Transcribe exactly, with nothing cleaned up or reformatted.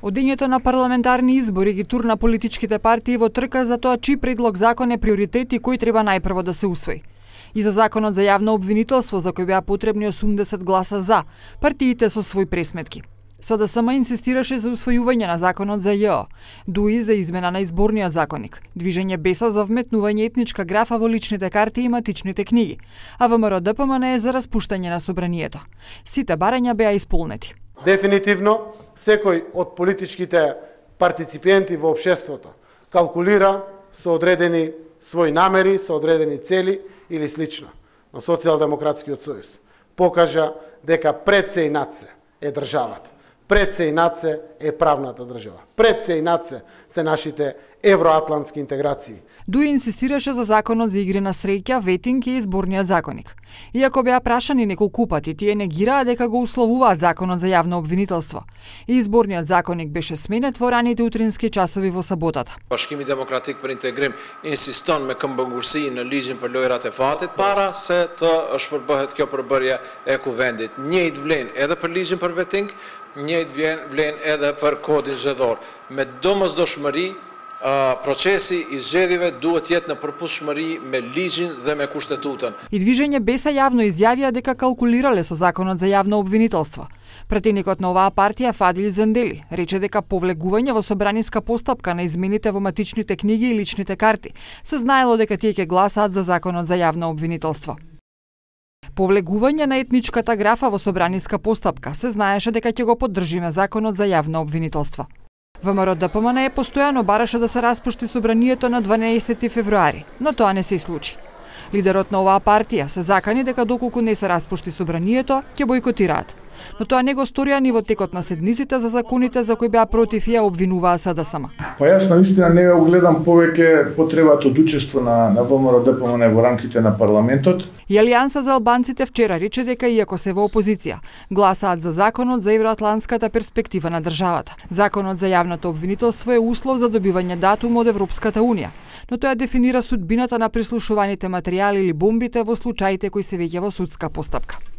Одењето на парламентарни избори ги турна политичките партии во трка за тоа чиј предлог закон е приоритет и кој треба најпрво да се усвои. И за законот за јавно обвинителство, за кој беа потребни осумдесет гласа за, партиите со свој пресметки. СДСМ инсистираше за усвојување на законот за ЈО, ДУИ за измена на изборниот законник, Движење Беса за вметнување етничка графа во личните карти и матичните книги, а ВМРО-ДПМН е за распуштање на собранието. Сите барања беа исполнети. Дефинитивно, секој од политичките партиципенти во општеството калкулира со одредени своји намери, со одредени цели или слично. Но Социјалдемократскиот сојуз покажа дека пред се и над се е државата. Пред се и над се е правната држава. Пред се и над се се нашите евроатлантски интеграции. ДУИ инсистираше за законот за игри на среќа, ветинг и изборниот законник. Иако беа прашани неколку пати, тие негираа дека го условуваат законот за јавно обвинителство. И изборниот законник беше сменет во раните утрински часови во саботата. Bashkimi Demokratik për Integrim insiston me këmbëngurësi në ligjin për lojrat e fatit para se të shpërbëhet kjo përbërje e kuvendit. Njëjtë vlen edhe për ligjin për vetting, njëjtë vlen edhe për kodin zgjedhor. Me domosdoshmëri, Uh, procesi i zgjedhjeve duhet jetë në përputhshmëri me ligjin dhe me kushtetutën. И Движење Беса јавно изјавија дека калкулирале со законот за јавно обвинителство. Претеникот на оваа партија Фадил Зендели рече дека повлегување во собраниска постапка на измените во матичните книги и личните карти се знаело дека тие ќе гласаат за законот за јавно обвинителство. Повлегување на етничката графа во собраниска постапка се знаеше дека ќе го поддржиме законот за јавно обвинителство. ВМРО-ДПМН е постојано бараше да се распушти собранието на дванаесети февруари, но тоа не се случи. Лидерот на оваа партија се закани дека доколку не се распушти собранието, ќе бојкотираат. Но тоа не го сторија ни во текот на седмиците за законите за кои беа против и ја обвинуваа СДСМ. Па јас наистина не ја огледам повеќе потребата од учество на, на ВМРО-ДПМН во рамките на парламентот. И Алијанса за албанците вчера рече дека иако се во опозиција, гласаат за законот за евроатлантската перспектива на државата. Законот за јавното обвинителство е услов за добивање датум од Европската унија, но тоа дефинира судбината на прислушуваните материјали или бомбите во случаите кои се веќе во судска постапка.